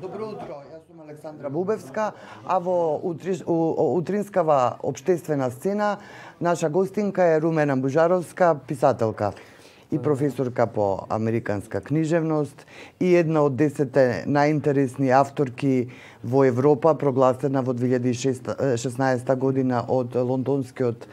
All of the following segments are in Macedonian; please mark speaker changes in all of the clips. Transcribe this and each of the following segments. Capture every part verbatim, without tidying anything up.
Speaker 1: Добро утро, јас сум Александра Бубевска, а во утри, у, утринскава општествена сцена наша гостинка е Румена Бужаровска, писателка и професорка по американска книжевност и една од десетте најинтересни авторки во Европа, прогласена во две илјади и шеснаесета година од лондонскиот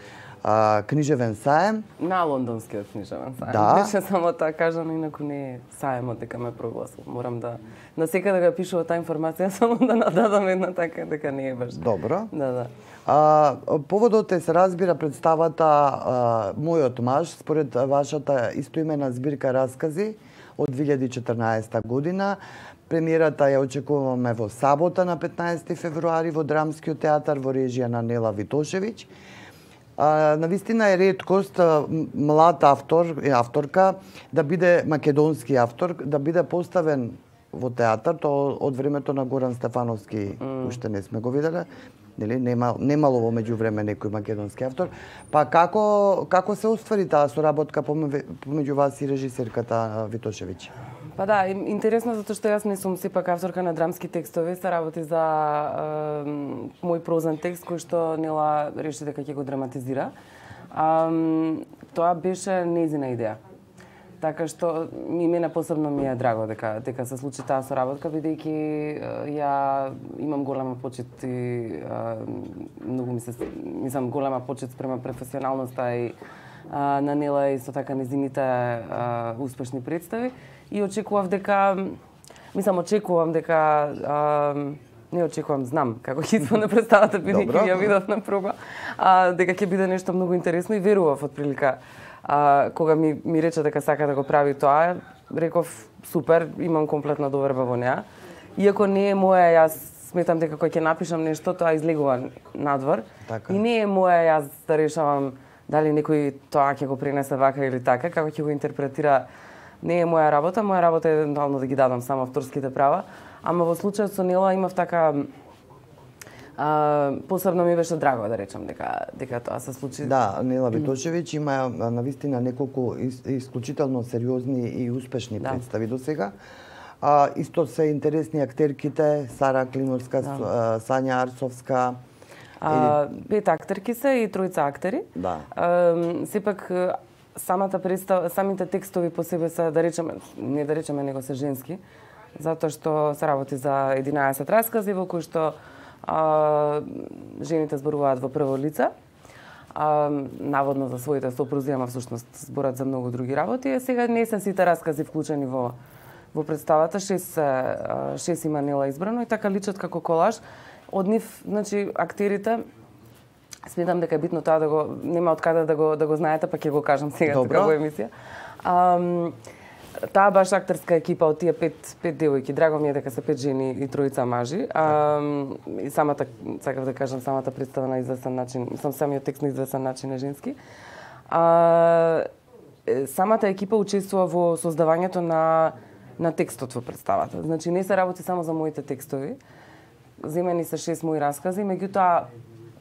Speaker 1: а, книжевен саем.
Speaker 2: На лондонскиот книжевен саем.
Speaker 1: Да.
Speaker 2: Беше само тоа кажано, инаку не е саемот дека ме прогласил. Морам да на секаде да пишува таа информација, само да нададам една така дека не е баш.
Speaker 1: Добро.
Speaker 2: Да, да.
Speaker 1: А, поводот е, се разбира, представата а, Мојот маж, според вашата истоимена збирка раскази од две илјади и четрнаесета година. Премиерата ја очекуваме во сабота на петнаесети февруари во Драмскиот театар во режија на Нела Витошевиќ. А, навистина е реткост млад автор и авторка да биде македонски автор, да биде поставен во театар, тоа од времето на Горан Стефановски mm. уште не сме го виделе. Нели нема немало во меѓувреме некој македонски автор. Па како како се оствари таа соработка помеѓу вас и режисерката Витошевиќ?
Speaker 2: Па да, интересно затоа што јас не сум сепак авторка на драмски текстови, се работи за е, мој прозен текст кој што Нела реши дека ќе го драматизира. А, тоа беше нејзина идеја. Така што и мене посебно ми е драго дека дека се случи таа соработка, бидејќи ја имам голема почит и а, многу ми се мислам голема почит спрема професионалноста и а, на Нела и со така незините а, успешни представи и очекував дека мислам очекувам дека а, не очекувам, знам како ќе исполне представата, бидејќи ја видов на проба, а, дека ќе биде нешто многу интересно и верував отприлика. А, кога ми, ми рече дека сака да го прави тоа, реков супер, имам комплетна доверба во неа. Иако не е моја, јас сметам дека кога ќе напишам нешто, тоа излегува надвор.
Speaker 1: Така.
Speaker 2: И не е моја јас да решавам дали некој тоа ќе го пренесе вака или така, како ќе го интерпретира. Не е моја работа, моја работа е евентуално да ги дадам само авторските права, ама во случајот со Нела имав така А, посебно ми беше драго да речам дека дека тоа се случи.
Speaker 1: Да, Нела Витошевиќ има навистина неколку исклучително сериозни и успешни да. представи до сега. А, исто се интересни актерките, Сара Климовска, да. Сања Арсовска.
Speaker 2: А, пет актерки се и тројца актери.
Speaker 1: Да.
Speaker 2: А, сепак самата представа, самите текстови по себе се, да речеме, не да речеме, него се женски, затоа што се работи за единаесет раскази во кои што А, жените зборуваат во прво лице, а, наводно за своите сопрузи, ама всушност зборат за многу други работи. Е, сега не се сите раскази вклучени во во представата, шест, шест има Нела избрано и така личат како колаж. Од нив, значи, актерите, сметам дека е битно тоа да го нема од каде да го да го знаете, па ќе го кажам сега тука во емисија. А, таа баш актерска екипа од тие пет пет девојки, драго ми е дека се пет жени и тројца мажи. А, и самата, сакав да кажам, самата представа на известен начин, мислам самиот текст на известен начин е женски. А, самата екипа учествува во создавањето на на текстот во представата. Значи не се работи само за моите текстови. Земени се шест мои раскази, меѓутоа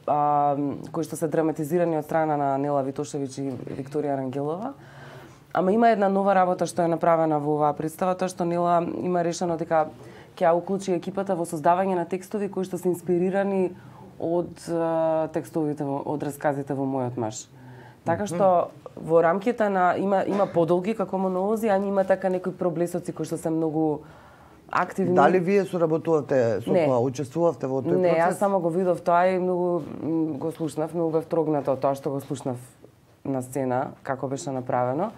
Speaker 2: а, кои што се драматизирани од страна на Нела Витошевиќ и Викторија Рангелова. Ама има една нова работа што е направена во оваа представа, тоа што Нела има решено дека ќе ја уклучи екипата во создавање на текстови кои што се инспирирани од uh, текстовите, од расказите во Мојот маж. Така што во рамките на има има подолги како монолози, а има така некои проблесоци кои што се многу активни.
Speaker 1: Дали вие соработувате со тоа, учествувавте во тој процес?
Speaker 2: Не, јас само го видов тоа и многу го слушнав, многу бев трогната од тоа што го слушнав на сцена, како беше направено.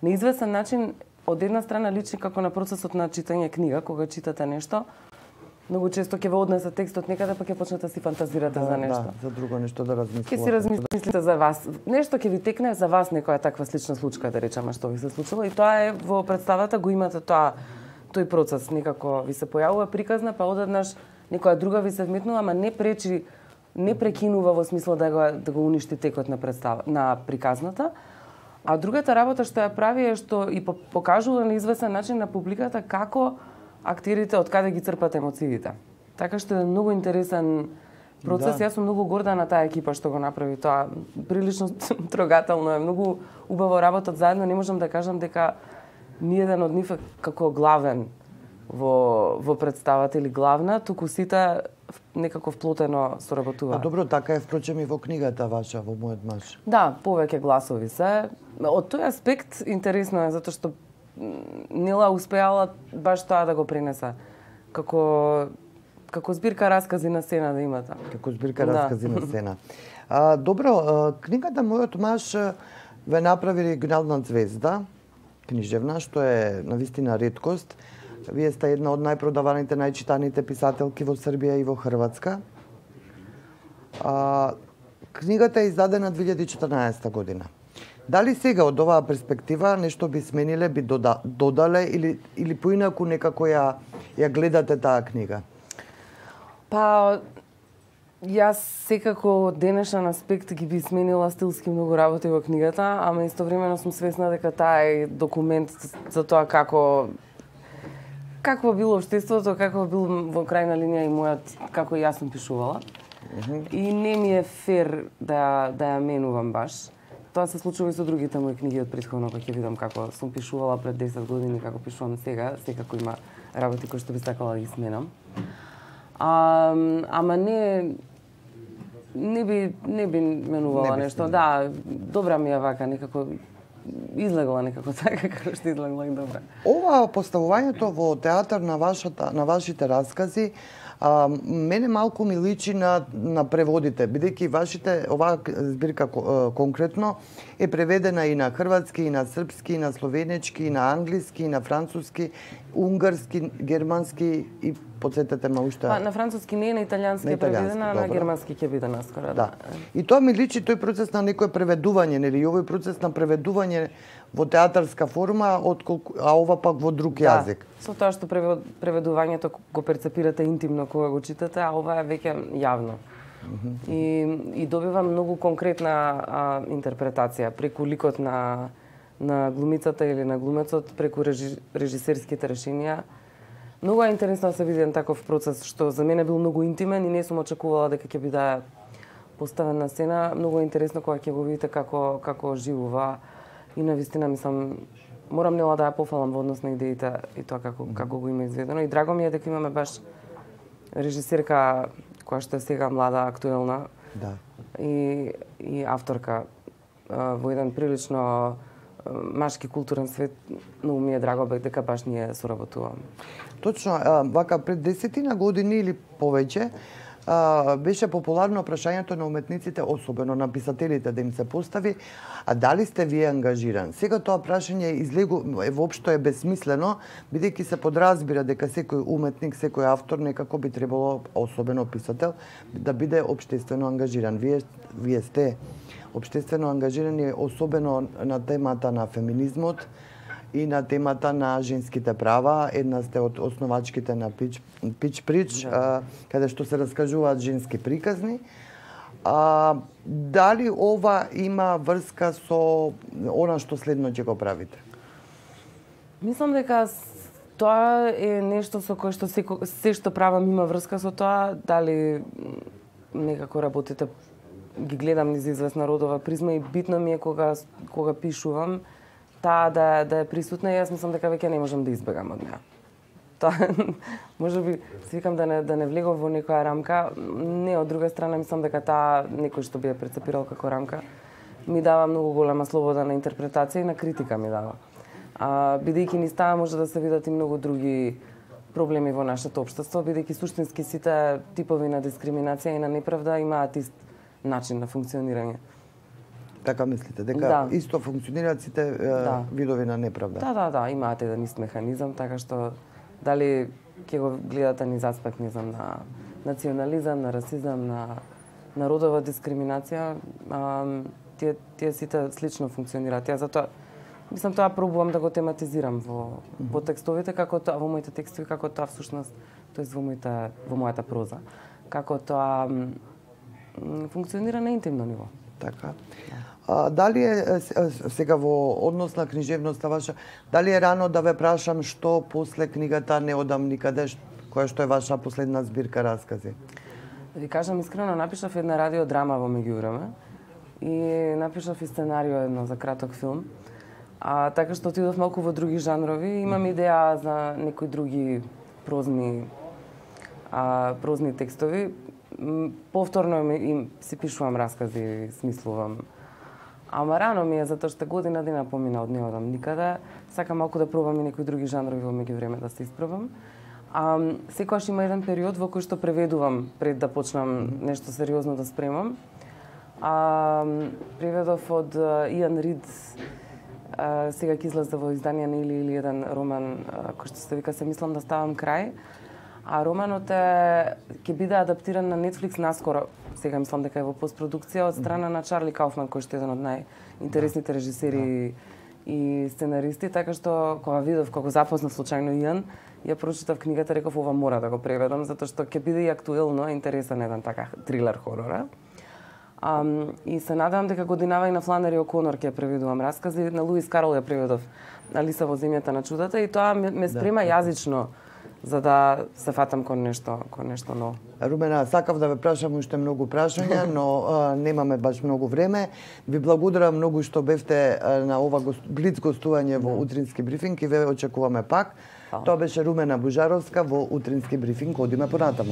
Speaker 2: На известен начин, од една страна личи како на процесот на читање книга, кога читате нешто, многу често ќе ве однесе текстот некаде, па ќе почнете да си фантазирате
Speaker 1: да,
Speaker 2: за нешто.
Speaker 1: Да, за друго нешто да размислувате.
Speaker 2: Ќе си размислите за вас. Нешто ќе ви текне за вас, некоја таква слична случка, да речеме, што ви се случило. И тоа е во представата, го имате тоа, тој процес, некако ви се појавува приказна, па одеднаш некоја друга ви се вметнува, ама не пречи, не прекинува во смисло да го, да го уништи текот на представа, на приказната. А другата работа што ја прави е што и покажува на известен начин на публиката како актерите од каде ги црпат емоциите. Така што е многу интересен процес. Да. Јас сум многу горда на таа екипа што го направи тоа. Прилично трогателно е, многу убаво работат заедно. Не можам да кажам дека ниеден од нив е како главен во во представата или главна, туку сите некако вплотено соработуваат.
Speaker 1: А добро, така е впрочем и во книгата ваша, во Мојот маж.
Speaker 2: Да, повеќе гласови се. Од тој аспект интересно е затоа што Нела успеала баш тоа да го пренесе. Како како збирка раскази на сцена да имате.
Speaker 1: Како збирка да. Раскази на сцена. А, добро, а, книгата Мојот маж ве направи регионална звезда, книжевна, што е навистина реткост. Вие сте една од најпродаваните, најчитаните писателки во Србија и во Хрватска. А, книгата е издадена две илјади и четрнаесета година. Дали сега од оваа перспектива нешто би смениле, би дода, додале или или поинаку некако ја ја гледате таа книга?
Speaker 2: Па јас секако од денешен аспект ги би сменила стилски многу работи во книгата, ама истовремено сум свесна дека таа е документ за тоа како какво било општеството, какво бил во крајна линија и мојот, како јас сум пишувала. Mm-hmm. И не ми е фер да да ја менувам баш. Тоа се случува и со другите мои книги од претходно, кога ќе видам како сум пишувала пред десет години, како пишувам сега, секако има работи кои што би сакала да ги сменам. А, ама не не би не би менувала не би нешто. Да, добра ми е вака некако излегла некако така како што излегла и добра.
Speaker 1: Ова поставувањето во театар на вашата на вашите раскази А, мене малку ми личи на, на преводите, бидејќи вашите, оваа збирка конкретно е преведена и на хрватски, и на српски, и на словенечки, и на англиски, и на француски, унгарски, германски и подсетете ме уште.
Speaker 2: Па, на француски не е, на италијански е преведена, а на германски ќе биде наскоро.
Speaker 1: Да. И тоа ми личи тој процес на некое преведување, нели, овој процес на преведување во театарска форма, отколку, а ова пак во друг
Speaker 2: да,
Speaker 1: јазик.
Speaker 2: Со тоа што преведувањето го перцепирате интимно кога го читате, а ова е веќе јавно. Mm-hmm. И, и добива многу конкретна а, интерпретација преку ликот на, на глумицата или на глумецот, преку режи, режисерските решенија. Многу е интересно да се види таков процес, што за мене бил многу интимен и не сум очекувала дека ќе биде поставен на сцена. Многу е интересно кога ќе го видите како, како живува. И навистина мислам, морам Нела да ја пофалам во однос на идеите и тоа како, mm-hmm. како го има изведено. И драго ми е дека имаме баш режисерка која што е сега млада, актуелна,
Speaker 1: да.
Speaker 2: и, и авторка а, во еден прилично а, машки културен свет. Многу ми е драго дека баш ние соработуваме.
Speaker 1: Точно, а, вака пред десетина години или повеќе, Uh, беше популарно прашањето на уметниците, особено на писателите, да им се постави, а дали сте вие ангажиран? Сега тоа прашање излегу, е, воопшто е безсмислено, бидејќи се подразбира дека секој уметник, секој автор некако би требало, особено писател, да биде општествено ангажиран. Вие, вие сте општествено ангажирани, особено на темата на феминизмот и на темата на женските права. Една сте од основачките на Пич, Пич Прич, да. а, каде што се раскажуваат женски приказни. А, дали ова има врска со она што следно ќе го правите?
Speaker 2: Мислам дека тоа е нешто со кое што се, се што правам има врска со тоа, дали некако работите, ги гледам низ известна родова призма и битно ми е кога, кога пишувам, таа да, да е присутна и јас мислам дека веќе не можам да избегам од неа. Тоа, може би, си викам да не, да не влегов во некоја рамка, не, од друга страна мислам дека таа, некој што би ја прецепирал како рамка, ми дава многу голема слобода на интерпретација и на критика ми дава. А, бидејќи низ таа може да се видат и многу други проблеми во нашето општество, бидејќи суштински сите типови на дискриминација и на неправда имаат ист начин на функционирање.
Speaker 1: Така мислите, дека да. Исто функционираат сите да. Видови на неправда?
Speaker 2: Да, да, да, имаат еден ист механизам, така што дали ќе го гледате низ аспект, не знам, на национализам, на расизам, на, на родова дискриминација, а, тие, тие сите слично функционираат. Ја затоа, мислам, тоа пробувам да го тематизирам во, mm-hmm. во текстовите, како тоа, во моите текстови, како тоа всушност, тоест во, моите, во мојата проза, како тоа м, функционира на интимно ниво.
Speaker 1: Така. А, дали е сега во однос на книжевноста ваша, дали е рано да ве прашам што после книгата Не одам никаде, која што е ваша последна збирка раскази?
Speaker 2: Да ви кажам искрено, напишав една радиодрама во меѓувреме и напишав и сценарио едно за краток филм. А така што отидов малку во други жанрови, имам идеја за некои други прозни а, прозни текстови. Повторно им, им си пишувам раскази, смислувам. Ама рано ми е, затоа што година дена помина од не одам никаде. Сакам малку да пробам и некои други жанрови во меѓувреме да се испробам. А, секогаш има еден период во кој што преведувам пред да почнам нешто сериозно да спремам. А, преведов од Иан Рид, а, сега ќе излезе во издание на Или или еден роман а, кој што се вика Се мислам да ставам крај. А романот е ќе биде адаптиран на Netflix наскоро. Сега мислам дека е во постпродукција од страна на Чарли Кауфман, кој што е еден од најинтересните режисери и сценаристи, така што кога видов, кога запознав случајно Иан, ја прочитав книгата, реков ова мора да го преведам, затоа што ќе биде и актуелно интересен еден така трилер хорора. Um, и се надевам дека годинава и на Фланери О'Конор ќе преведувам раскази, на Луис Карол ја преведов Алиса во земјата на чудата и тоа ме, ме спрема да, јазично за да се фатам кон нешто, кон нешто ново.
Speaker 1: Румена, сакав да ве прашам уште многу прашања, но а, немаме баш многу време. Ви благодарам многу што бевте а, на ова гост, блиц гостување во утрински брифинг и ве очекуваме пак. Тоа беше Румена Бужаровска во утрински брифинг. Одиме понатаму.